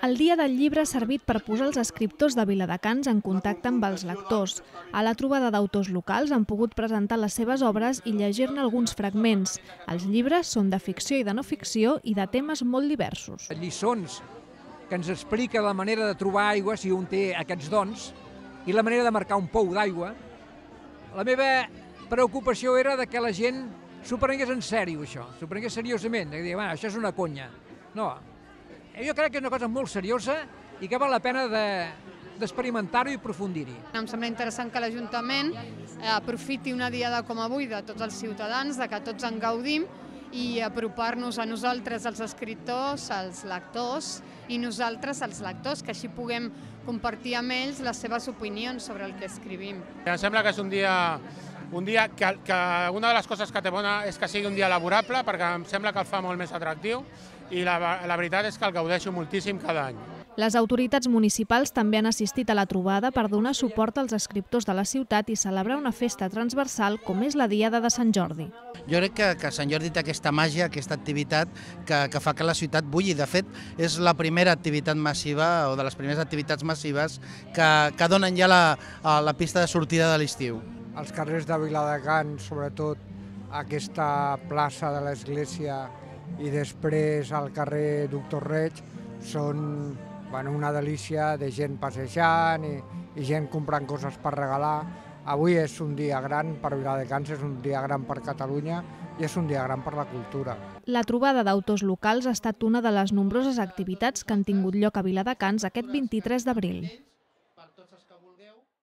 El Dia del Llibre ha servit per posar els escriptors de Viladecans en contacte amb els lectors. A la trobada d'autors locals han pogut presentar les seves obres i llegir-ne alguns fragments. Els llibres són de ficció i de no ficció i de temes molt diversos. Lliçons que ens explica la manera de trobar aigua si un té aquests dons i la manera de marcar un pou d'aigua. La meva preocupació era de que la gent s'ho prengués en sèrio, això, s'ho prengués seriosament, de dir, això és una conya. No, jo crec que és una cosa molt seriosa i que val la pena d'experimentar-ho i aprofundir-hi. Em sembla interessant que l'Ajuntament aprofiti una diada com avui de tots els ciutadans, de que tots en gaudim i apropar-nos a nosaltres, els escriptors, els lectors i nosaltres, els lectors, que així puguem compartir amb ells les seves opinions sobre el que escrivim. Em sembla que és un dia que una de les coses que té bona és que sigui un dia laborable, perquè em sembla que el fa molt més atractiu i la veritat és que el gaudeixo moltíssim cada any. Les autoritats municipals també han assistit a la trobada per donar suport als escriptors de la ciutat i celebrar una festa transversal com és la Diada de Sant Jordi. Jo crec que Sant Jordi té aquesta màgia, aquesta activitat que fa que la ciutat bulli. De fet, és la primera activitat massiva o de les primeres activitats massives que donen ja la pista de sortida de l'estiu. Els carrers de Viladecans, sobretot aquesta plaça de l'església i després al carrer Doctor Reig, són una delícia de gent passejant i gent comprant coses per regalar. Avui és un dia gran per Viladecans, és un dia gran per Catalunya i és un dia gran per la cultura. La trobada d'autors locals ha estat una de les nombroses activitats que han tingut lloc a Viladecans aquest 23 d'abril.